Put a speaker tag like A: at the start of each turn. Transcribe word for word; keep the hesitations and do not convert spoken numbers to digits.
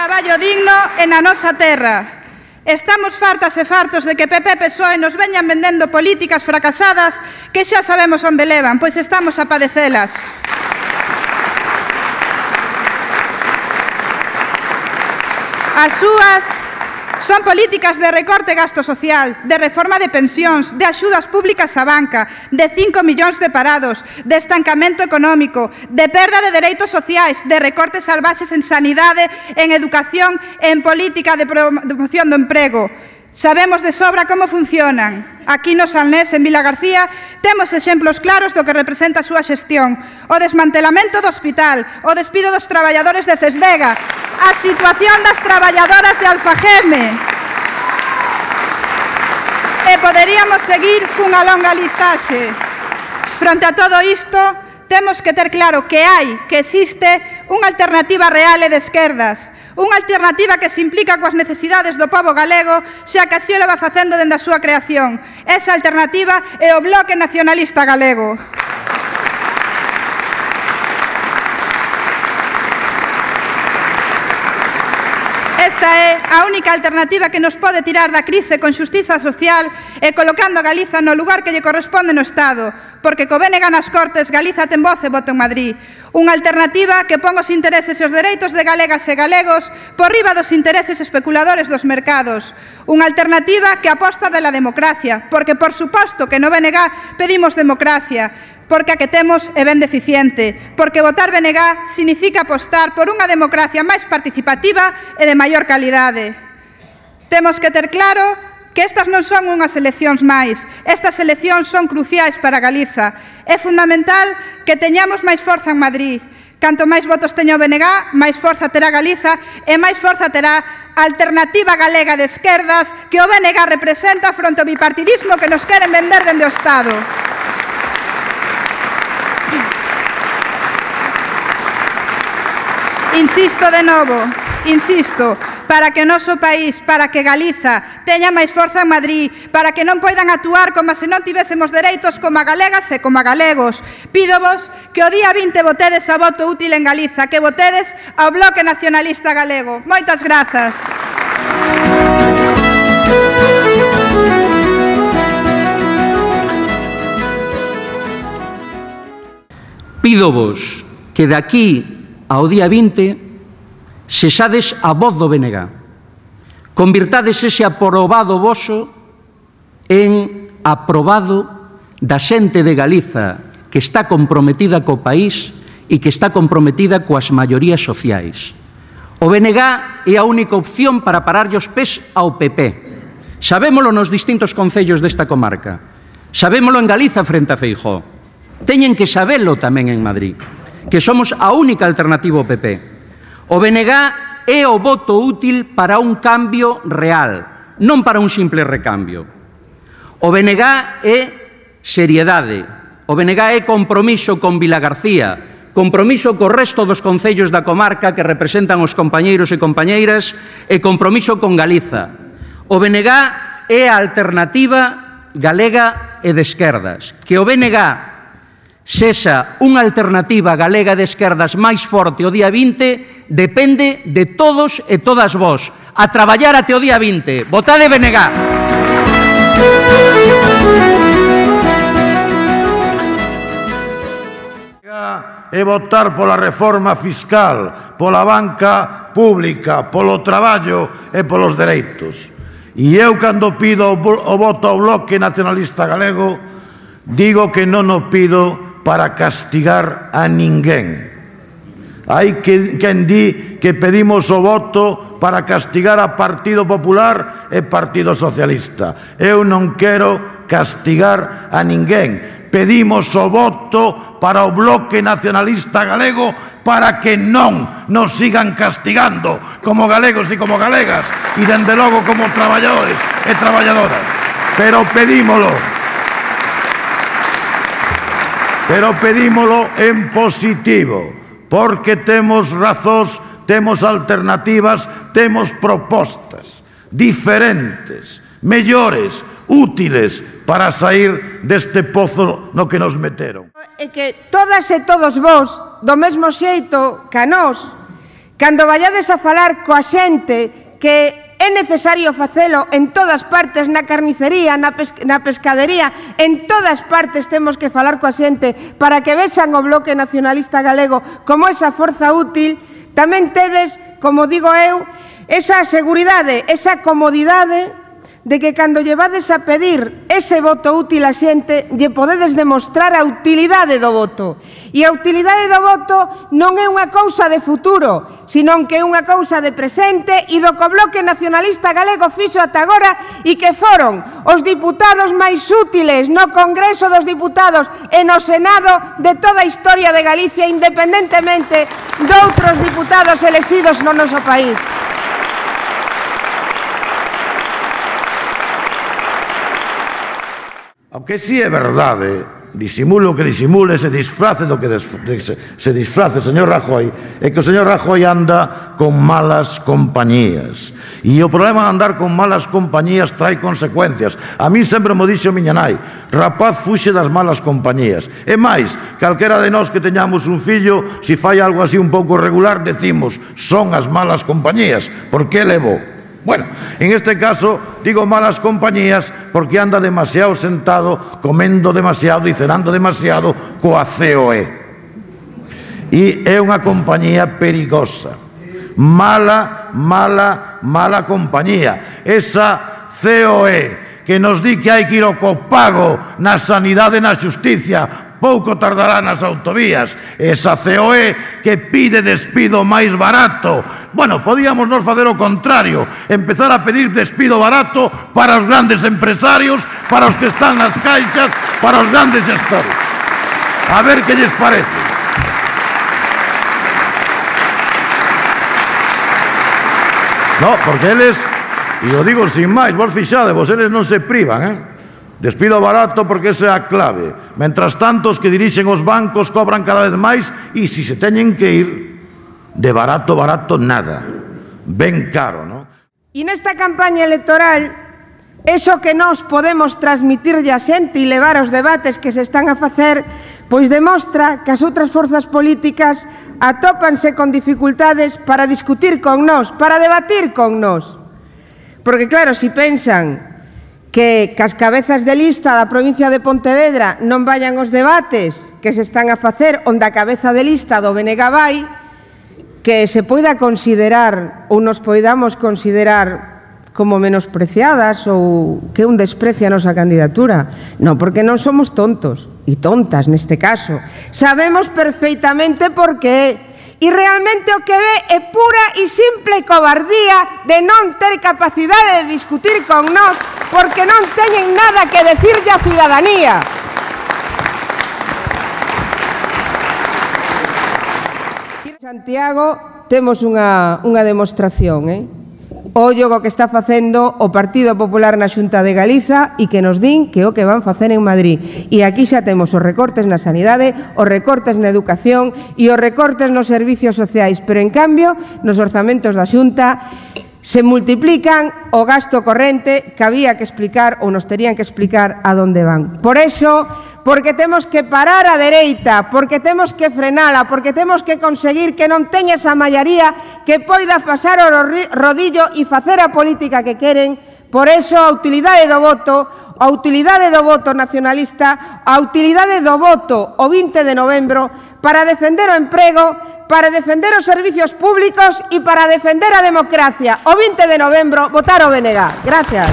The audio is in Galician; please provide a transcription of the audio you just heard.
A: traballo digno e na nosa terra. Estamos fartas e fartos de que P P e P S O E nos veñan vendendo políticas fracasadas que xa sabemos onde levan, pois estamos a padecelas. As súas son políticas de recorte gasto social, de reforma de pensións, de axudas públicas á banca, de cinco millóns de parados, de estancamento económico, de perda de dereitos sociais, de recortes salvaxes en sanidade, en educación e en política de promoción do emprego. Sabemos de sobra como funcionan. Aquí no Salnés, en Vilagarcía, temos exemplos claros do que representa a súa xestión. O desmantelamento do hospital, o despido dos traballadores de Cesdega, a situación das traballadoras de Alfageme. E poderíamos seguir cunha longa listaxe. Fronte a todo isto, temos que ter claro que hai, que existe, unha alternativa real e de esquerdas. Unha alternativa que se implica coas necesidades do pobo galego, xa que así o leva facendo dende a súa creación. Esa alternativa é o Bloque Nacionalista Galego. Esta é a única alternativa que nos pode tirar da crise con xustiza social e colocando a Galiza no lugar que lle corresponde no Estado, porque co B N G nas Cortes Galiza ten voz e voto en Madrid. Unha alternativa que pon os intereses e os dereitos de galegas e galegos por riba dos intereses especuladores dos mercados. Unha alternativa que aposta dela democracia, porque por suposto que no B N G pedimos democracia, porque a que temos é ben deficiente, porque votar B N G significa apostar por unha democracia máis participativa e de maior calidade. Temos que ter claro que estas non son unhas eleccións máis, estas eleccións son cruciais para Galiza. É fundamental que teñamos máis forza en Madrid. Canto máis votos teña o B N G, máis forza terá Galiza e máis forza terá a alternativa galega de esquerdas que o B N G representa fronte ao bipartidismo que nos queren vender dende o Estado. Insisto de novo, insisto, para que o noso país, para que Galiza teña máis forza en Madrid, para que non poidan actuar como se non tivésemos dereitos como a galegas e como a galegos. Pídovos que o día vinte votedes a voto útil en Galiza, que votedes ao Bloque Nacionalista Galego. Moitas grazas.
B: Pídovos que de aquí ao día vinte sexades a voz do B N G. Convirtades ese aprobado voso en aprobado da xente de Galiza que está comprometida co país e que está comprometida coas maiorías sociais. O B N G é a única opción para pararlle os pés ao P P. Sabémolo nos distintos concellos desta comarca. Sabémolo en Galiza frente a Feijóo. Teñen que sabelo tamén en Madrid, que somos a única alternativa ao P P. O B N G é o voto útil para un cambio real, non para un simple recambio. O B N G é seriedade, o B N G é compromiso con Vilagarcía, compromiso co resto dos concellos da comarca que representan os compañeiros e compañeiras e compromiso con Galiza. O B N G é a alternativa galega e de esquerdas. Que o B N G sexa unha alternativa galega de esquerdas máis forte o día vinte depende de todos e todas vós. A traballar até o día vinte. Votade B N G.
C: E votar pola reforma fiscal, pola banca pública, polo traballo e polos dereitos. E eu, cando pido o voto ao Bloque Nacionalista Galego, digo que non o pido para castigar a ninguén. Hai quen di que pedimos o voto para castigar a Partido Popular e Partido Socialista. Eu non quero castigar a ninguén. Pedimos o voto para o Bloque Nacionalista Galego para que non nos sigan castigando como galegos e como galegas e, dende logo, como traballadores e traballadoras. Pero pedímolo. Pero pedímolo en positivo, porque temos razóns, temos alternativas, temos propostas diferentes, mellores, útiles para sair deste pozo no que nos meteron.
D: E que todas e todos vos, do mesmo xeito que a nós, cando vallades a falar coa xente que é necesario facelo en todas partes, na carnicería, na, pes na pescadería, en todas partes temos que falar coa xente para que vexan o Bloque Nacionalista Galego como esa forza útil. Tamén tedes, como digo eu, esa seguridade, esa comodidade de que cando llevades a pedir ese voto útil a xente, lle podedes demostrar a utilidade do voto. E a utilidade do voto non é unha cousa de futuro, senón que é unha cousa de presente e do que o Bloque Nacionalista Galego fixo ata agora e que foron os diputados máis útiles no Congreso dos Diputados e no Senado de toda a historia de Galicia, independentemente de outros diputados elexidos no noso país.
C: Aunque sí é verdade, disimule o que disimule, se disfrace do que se disfrace o señor Rajoy, é que o señor Rajoy anda con malas compañías. E o problema de andar con malas compañías trae consecuencias. A mí sempre mo dixo miña nai, rapaz fuxe das malas compañías. E máis, calquera de nós que teñamos un fillo, se fai algo así un pouco regular, decimos, son as malas compañías, por que levou? Bueno, en este caso digo malas compañías porque anda demasiado sentado, comendo demasiado e cenando demasiado coa C O E. E é unha compañía perigosa. Mala, mala, mala compañía. Esa C O E que nos di que hai que ir ao copago na sanidade e na xusticia, pouco tardará nas autovías. Esa C O E que pide despido máis barato. Bueno, podíamos nos facer o contrario, empezar a pedir despido barato para os grandes empresarios, para os que están nas caixas, para os grandes gestores. A ver que lles parece. No, porque eles, e o digo sin máis, vos fixade, vos eles non se privan, eh? Despido barato porque esa é a clave. Mentras tanto, os que dirixen os bancos cobran cada vez máis e se se teñen que ir, de barato, barato, nada. Ben caro, non?
D: E nesta campaña electoral, eso que nós podemos transmitirlle a xente e levar aos debates que se están a facer, pois demostra que as outras forzas políticas atópanse con dificultades para discutir con nós, para debatir con nós. Porque claro, se pensan que cas cabezas de lista da provincia de Pontevedra non vayan os debates que se están a facer onde a cabeza de lista do B N G vai, que se poida considerar ou nos poidamos considerar como menospreciadas ou que un desprecia a nosa candidatura. Non, porque non somos tontos e tontas neste caso. Sabemos perfeitamente por que e realmente o que ve é pura e simple cobardía de non ter capacidade de discutir con nós porque non teñen nada que decirlle á ciudadanía. En Santiago temos unha, unha demostración, eh? Ollo o que está facendo o Partido Popular na Xunta de Galiza e que nos din que o que van facer en Madrid. E aquí xa temos os recortes na sanidade, os recortes na educación e os recortes nos servicios sociais, pero en cambio nos orzamentos da Xunta se multiplican o gasto corrente que había que explicar ou nos terían que explicar a donde van. Por eso, porque temos que parar a dereita, porque temos que frenala, porque temos que conseguir que non teña esa maioría que poida pasar o rodillo e facer a política que queren. Por eso a utilidade do voto, a utilidade do voto nacionalista, a utilidade do voto o vinte de novembro para defender o emprego, para defender os servicios públicos e para defender a democracia. O vinte de novembro, votar o B N G. Gracias.